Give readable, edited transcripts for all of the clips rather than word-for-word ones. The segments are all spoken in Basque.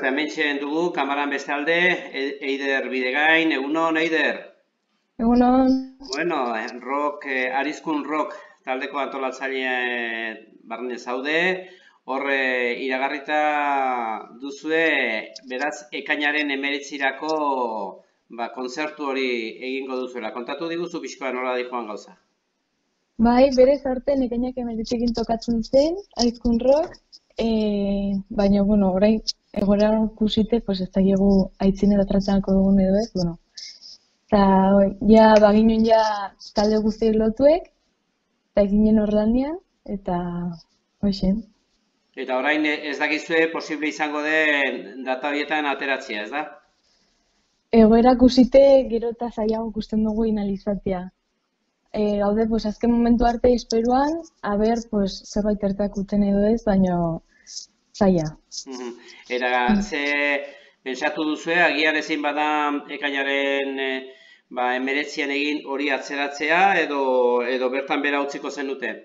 hemen dugu, kamaran bestalde, Eider Bidegain, egunon, Eider? Egunon. Bueno, Arizkun Rock taldeko antolatzaile barne zaude, hor iragarrita duzue, beraz, ekainaren 19 kontzertu hori egingo duzuela. Kontatu diguzu pixkoa nola dihoan gauza? Bai, berez artean ekainak 19ekin tokatzen zen, Arizkun Rock, baina, bueno, orain egoera ikusite, pues ez dakigu aitzinera tratzanako dugun edo ez, bueno. Eta, ja, baginen ja talde guztiek lotuek, eta eginen Orlandian, eta, hoxen. Eta orain ez dakizue posible izango den data horietan ateratzea, ez da? Egoera ikusite gero eta zailago ikusten dugu inalizatzea. Gaude, pues, azken momentu arte esperuan, aber, pues, zerbait ertakuten edo ez, baina zaila. Era, ze pensatu duzue, agian ezin bada ekainaren 19an egin hori atzeratzea, edo bertan bera utziko zenuten?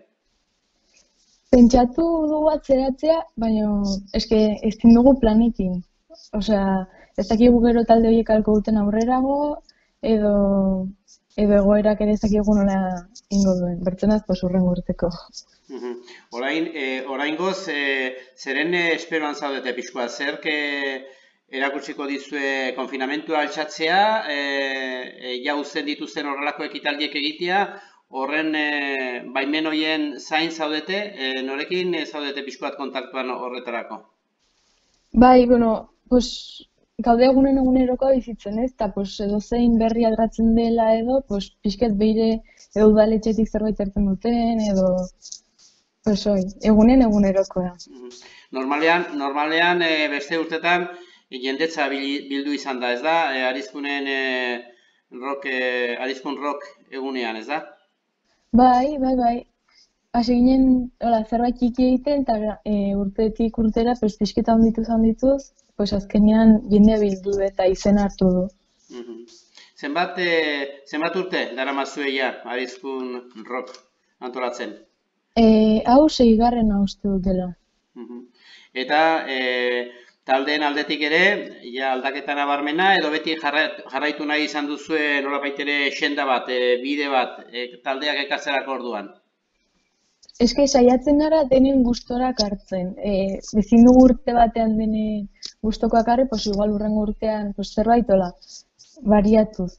Pentsatu dugu atzeratzea, baina eske ezin dugu planekin. Osea, ez dakigu gero talde horiek alko duten aurrerago, edo egoerak ere ez dakigu nola ingo duen. Bertzenaz, pues, hurrengo urteko. Oraingoz, zeren esperoan zaudete pixkoa? Zerk erakutsiko dizue konfinamentua altxatzea, ja uzten dituzten horrelako ekitaldiek egitea, horren baimen horien zain zaudete, norekin zaudete pixkoat kontaktuan horretarako? Bai, bueno, pues, gaude egunerokoa bizitzen, ez? Eta, pues, edozein berri aldatzen dela edo, pues, pixket behire edo udaletxetik zerbait hartzen duten, edo, pues, egunerokoa. Normalean beste urtetan jendetza bildu izan da, ez da? Arizkun Rock egunean, ez da? Bai. Hasi ginen zerbait txiki egiten, eta urtetik urtera pixketa handituz, pues azkenean jendea bildu eta izena hartu du. Zenbat urte daramazue ja Arizkun Rock antolatzen? Hau 6. uste dut dela. Eta taldeen aldetik ere, ja aldaketa nabarmena, edo beti jarraitu nahi izan duzue nolabait ere senda bat, bide bat, taldeak ekartzerako orduan? Eske saiatzen gara denen gustorak hartzen. Ezin dugu urte batean denen gustokoak harri, pues igual hurrengo urtean zerbait bariatuz.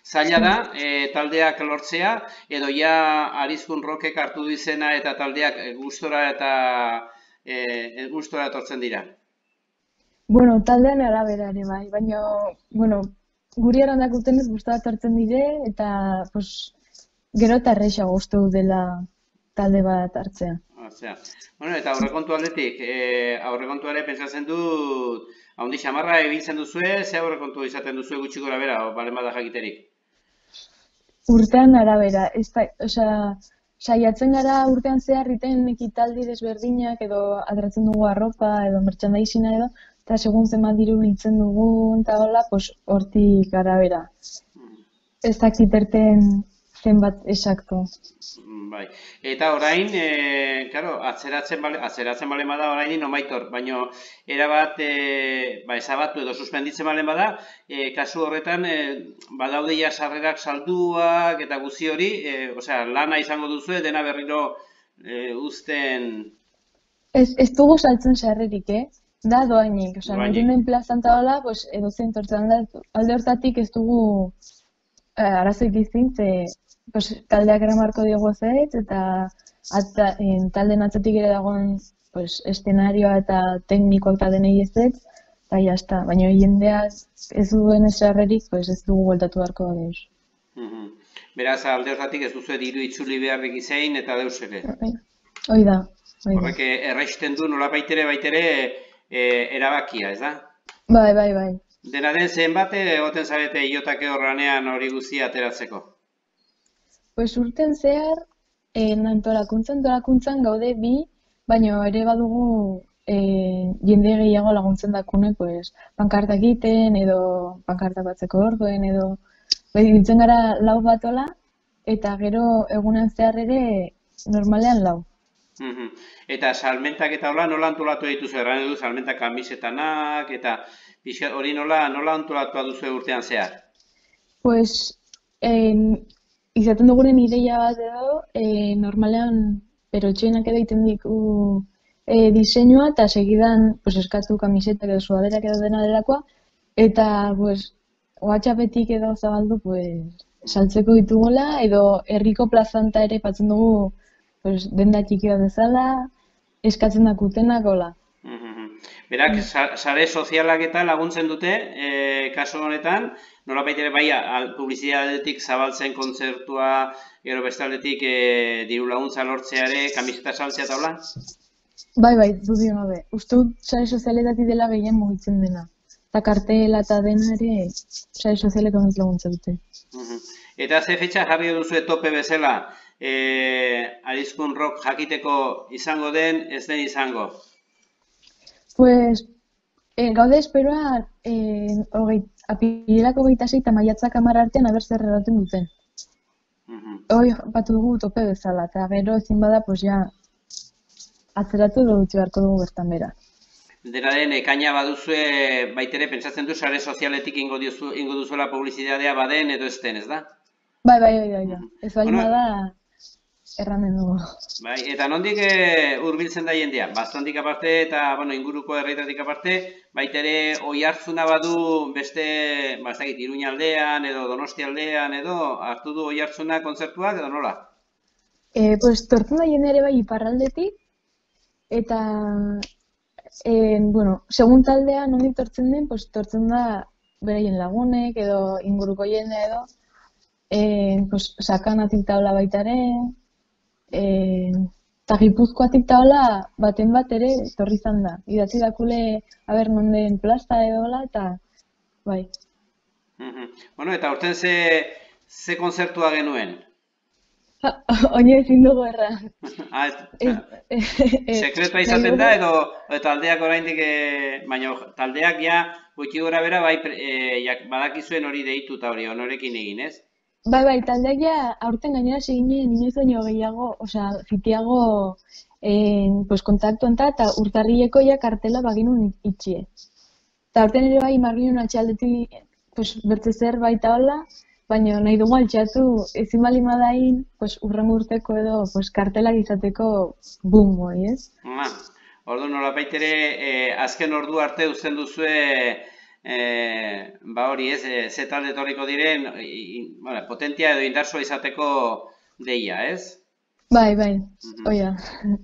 Zaila da, taldeak lortzea, edo ja Arizkun Rockek hartu dizena eta taldeak gustora etortzen dira? Bueno, taldean arabera ere bai, baina, bueno, guri erandak utenez gustora etortzen dire, eta, pues, gero eta erreixago uste dut dela talde bat hartzea. Bueno, eta aurrekontu aldetik, aurrekontuare pentsatzen dut, haundi xamarra ebiltzen duzue, ze aurrekontu izaten duzue gutxi gora bera, balen bada jakiterik? Urtean arabera, saiatzen gara urtean zehar iten ekitaldi desberdinak edo atratzen dugu arropa edo merchandising edo, eta segun zenbat diru biltzen dugun eta hola, pues hortik arabera. Ez dakit erten zenbat esakto. Bai. Eta orain, atzeratzen balen bada orain nomaitor, baina erabat ezabatu edo suspenditzen balen bada, kasu horretan badaude ja sarrerak salduak eta guzti hori, lana izango duzue, dena berriro uzten... Ez dugu saltzen sarrerik, da doainik, nirunen plazan eta hola, edozein tortzen alde hortatik ez dugu arazoik izin, taldeak eramarko diogu zait, eta talden atzatik ere dagoen eszenarioa eta teknikoak eta denei ez dut, eta jazta, baina jendea ez duen esarrerik, ez dugu gueltatu beharko da deus. Beraz, alde hortatik ez duzu diru itzuli beharrik izain eta deus ere? Hoi da. Horrek erraisten du nolabaitere erabakia, ez da? Bai. Dena den zenbat egoten zarete iotake horranean hori guztia ateratzeko? Urten zehar, antolakuntzan gaude bi, baina ere badugu jende gehiago laguntzen dakune, pankartak egiten edo pankartak batzeko orduen edo biltzen gara 4 batola, eta gero egunean zehar ere normalean 4. Eta salmentak eta nola antolatu dituzu, erran edu salmentak kamisetanak, eta hori nola antolatu duzu urtean zehar? Pues, izaten dugunen ideia bat edo, normalean perotxenak edo egiten diku diseinua, eta segidan pues, eskatu kamisetak edo sudaderak edo dena delakoa, eta pues, WhatsAppetik edo zabaldu pues, saltzeko ditugola, edo herriko plazanta ere patzen dugu pues, denda txiki bat bezala, eskatzen dakutenak, hola. Berak, sare sozialak eta laguntzen dute, kasu honetan, nolabait ere bai publizitatetik zabaltzen kontzertua, gero bestaldetik diru laguntza lortzeare, kamiseta saltzea eta hola? Bai, dudio gabe. Uste dut sare sozialetatik dela gehien mugitzen dena. Eta kartela eta dena ere sare sozialek honez laguntza dute. Eta ze fetxa jarri duzu tope bezala, Arizkun Rock jakiteko izango den, ez den izango? Pues, gaude esperoa apirilako 26 eta maiatzak 10 artean aber zer erraten duten. Hoi batu dugu tope bezala, eta gero ezin bada, pues ja, atzeratu edo utzi beharko dugu bertan bera. Dena den, ekaina baduzue, baitere pentsatzen du sare sozialetik ingo duzuela publizitatea baden edo ez den, ez da? Bai. Ez bali bada, erranen dugu. Bai, eta nondik hurbiltzen da jendea? Bastantik aparte eta inguruko herrietatik aparte, baitere oihartzuna badu beste, ez dakit, Iruña aldean edo Donostia aldean edo hartu du oihartzuna kontzertuak edo nola? Pues tortzen da jende ere bai iparraldetik, eta segun taldea nondik tortzen den, pues tortzen da beraien lagunek edo inguruko jende edo, pues sakanatik taula baitare, eta Gipuzkoatik taula baten bat ere torri izan da. Idatzi dakule aber non den plaza edola eta bai. Bueno, eta urten ze kontzertua genuen? Oino ezin dugu erra. Sekretua izaten da edo taldeak oraindik, baina taldeak ja gutxi gora bera bai badakizuen hori deitu eta hori honorekin egin, ez? Bai, taldeak ja aurten gainera seginen inoiz baino gehiago, fitiago kontaktu enta eta urtarrileko ja kartela baginun itxie. Eta aurten ere bai marginun atxaldetik bertze zer baita hola, baina nahi dugu altxatu ezin bali madain urrengo urteko edo kartelak izateko boom hori, ez? Ordu nolapait ere azken ordu arte uzten duzue hori ez, ze talde etorriko diren potentia edo indartsua izateko deia, ez? Bai, oia.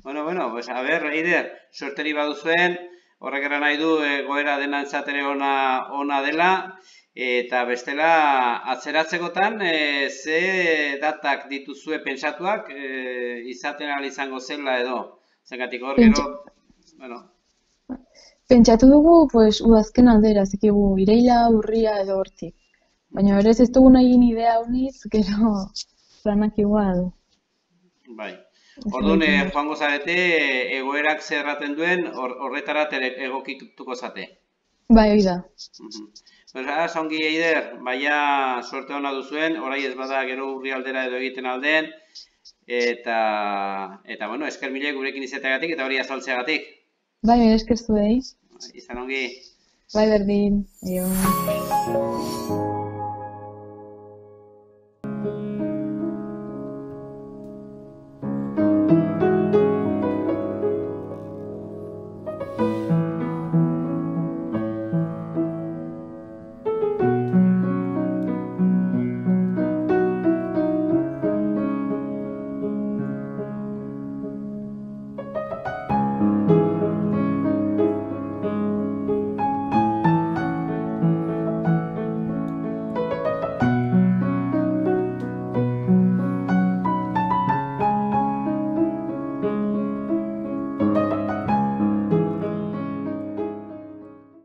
Bueno, pues a ber, Eider, suerteri baduzuen, horrek eran nahi du goera denantzatere ona dela, eta bestela atzeratzekotan ze datak dituzue pentsatuak izaten ahal izango zela edo, zengatik hor gero, bueno. Pentsatu dugu, udazken aldera, zikigu ireila, urria edo hortik. Baina berez ez dugu nahi idea honiz, gero planak igual. Bai. Orduan, joango zarete, egoerak zerraten duen, horretarat egokituko zate. Bai, hori da. Ongi Eider, baina suerte hona duzuen, orai ez bada gero urri aldera edo egiten aldeen, eta esker mile gurekin izateagatik eta hori azaltzeagatik. Bai, esker zuei. Izan ongi. Bai, berdin.